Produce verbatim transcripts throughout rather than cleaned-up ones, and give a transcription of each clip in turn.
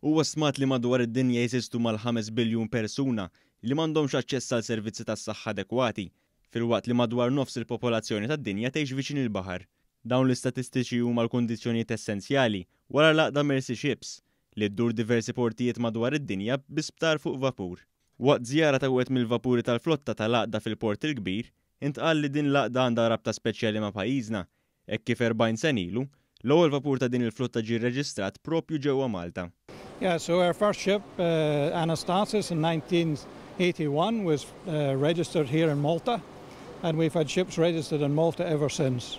Huwa stmat li madwar id-dinja jeżistu mal-ħames biljun persuna li m'għandhomx aċċess għal servizzi tas-saħħa adekwati, filwaqt li madwar nofs il-popolazzjoni tad-dinja tgħix viċin il-baħar. Dawn l-istatistiċi huma l-kundizzjonijiet essenzjali wara l-għaqda Mercy Ships li ddur diversi portijiet madwar id-dinja bi sptar fuq vapur. Waqt żjara ta' wieħed mill-vapuri tal-flotta tal-għaqda fil-Port il-Kbir, intqal li din l-għaqda għandha rabta speċjali ma' pajjiżna, hekk kif erbgħin sena ilu, l-ewwel vapur ta' din il-flotta ġie rreġistrat propju ġewwa Malta. Yeah, so our first ship, uh, Anastasis, in nineteen eighty-one was uh, registered here in Malta, and we've had ships registered in Malta ever since.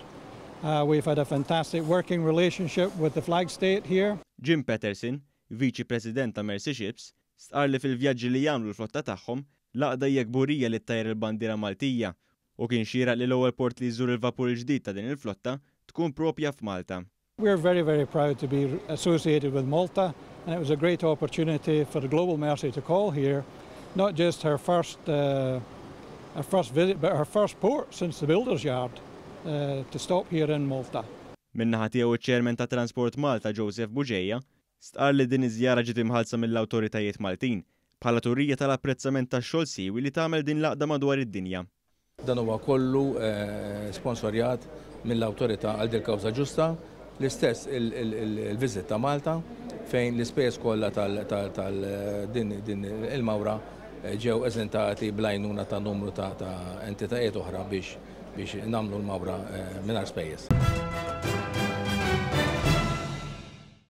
Uh, we've had a fantastic working relationship with the flag state here. Jim Patterson, Viċi President ta' Mercy Ships, stqar li fil-vjaġġi li jagħmlu l-flotta tagħhom, l-għaqda hija kburija li ttajjar il-bandiera Maltija u kien xieraq li l-ewwel port li jżur il-vapur il-ġdid ta' din il-flotta tkun propja f'Malta. We're very, very proud to be associated with Malta, and it was a great opportunity for the Global Mercy to call here, not just her first, uh, her first visit, but her first port since the Builder's Yard, uh, to stop here in Malta. Min-naħa tiegħu, iċ-Chairman ta' Transport Malta, Joseph Bugeja, stqar li din iż-żjara ġiet imħallsa mill-awtoritajiet Maltin bħala turija tal-apprezzament tax-xogħol siewi li tagħmel din l-għaqda madwar id-dinja. Dan huwa kollu eh, sponsorjat mill-awtorità għal dil kawża ġusta, l-istess il-visit ta' Malta, fejn l-ispejjeż kollha tal-din din il-mawra eh, ġew eżentati bl-għajnuna ta' numru ta' entitajiet oħra biex biex nagħmlu l-mawra eh, mingħajr spejjeż.